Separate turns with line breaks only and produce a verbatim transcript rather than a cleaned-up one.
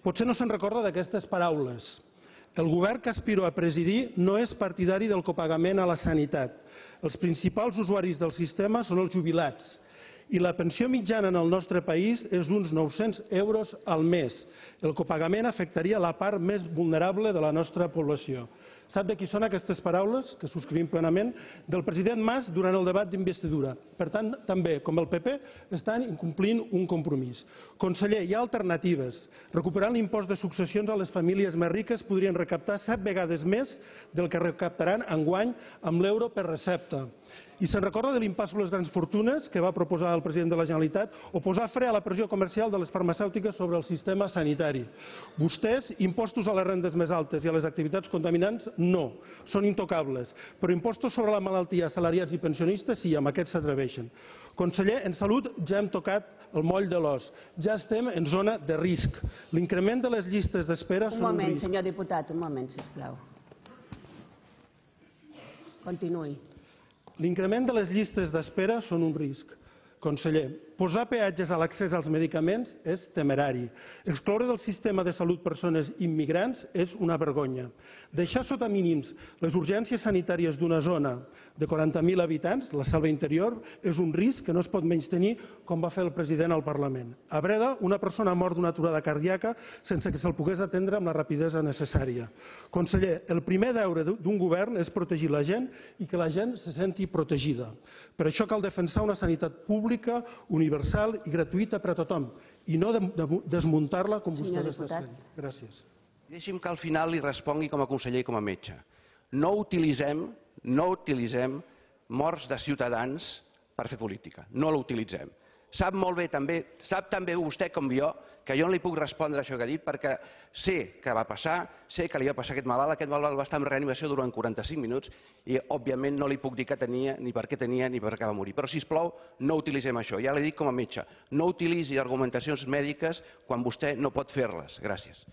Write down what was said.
Potser no se'n recorda d'aquestes paraules. El govern que aspiro a presidir no és partidari del copagament a la sanitat. Els principals usuaris del sistema són els jubilats i la pensió mitjana en el nostre país és d'uns nou-cents euros al mes. El copagament afectaria la part més vulnerable de la nostra població. Sap de qui són aquestes paraules, que subscrivim plenament? Del president Mas durant el debat d'investidura. Per tant, també, com el P P, estan incomplint un compromís. Conseller, hi ha alternatives. Recuperant l'impost de successions a les famílies més riques podrien recaptar set vegades més del que recaptaran enguany amb l'euro per recepta. I se'n recorda de l'impost sobre les grans fortunes que va proposar el president de la Generalitat o posar fre a la pressió comercial de les farmacèutiques sobre el sistema sanitari? Vostès, impostos a les rendes més altes i a les activitats contaminants, no, són intocables. Però impostos sobre la malaltia, assalariats i pensionistes, sí, amb aquests s'atreveixen. Conseller, en salut ja hem tocat el moll de l'os. Ja estem en zona de risc. L'increment de les llistes d'espera són un risc.
Un moment, senyor diputat, un moment, sisplau. Continuï.
L'increment de les llistes d'espera són un risc. Conseller, posar peatges a l'accés als medicaments és temerari. Excloure del sistema de salut persones immigrants és una vergonya. Deixar sota mínims les urgències sanitàries d'una zona de quaranta mil habitants, la Selva Interior, és un risc que no es pot menystenir com va fer el president al Parlament. A Breda, una persona ha mort d'una aturada cardíaca sense que se'l pogués atendre amb la rapidesa necessària. Conseller, el primer deure d'un govern és protegir la gent i que la gent se senti protegida. Per això cal defensar una sanitat pública, universal i gratuïta per a tothom, i no desmuntar-la com vostès estan fent. Gràcies.
Deixi'm que al final li respongui com a conseller i com a metge. No utilitzem, no utilitzem morts de ciutadans per fer política. No l'utilitzem. Sap molt bé també, sap també vostè com jo, que jo no li puc respondre això que ha dit perquè sé què va passar, sé que li va passar a aquest malalt, aquest malalt va estar en reanimació durant quaranta-cinc minuts i òbviament no li puc dir què tenia, ni per què tenia, ni per què va morir. Però sisplau, no utilitzem això. Ja l'he dit com a metge. No utilitzi argumentacions mèdiques quan vostè no pot fer-les. Gràcies.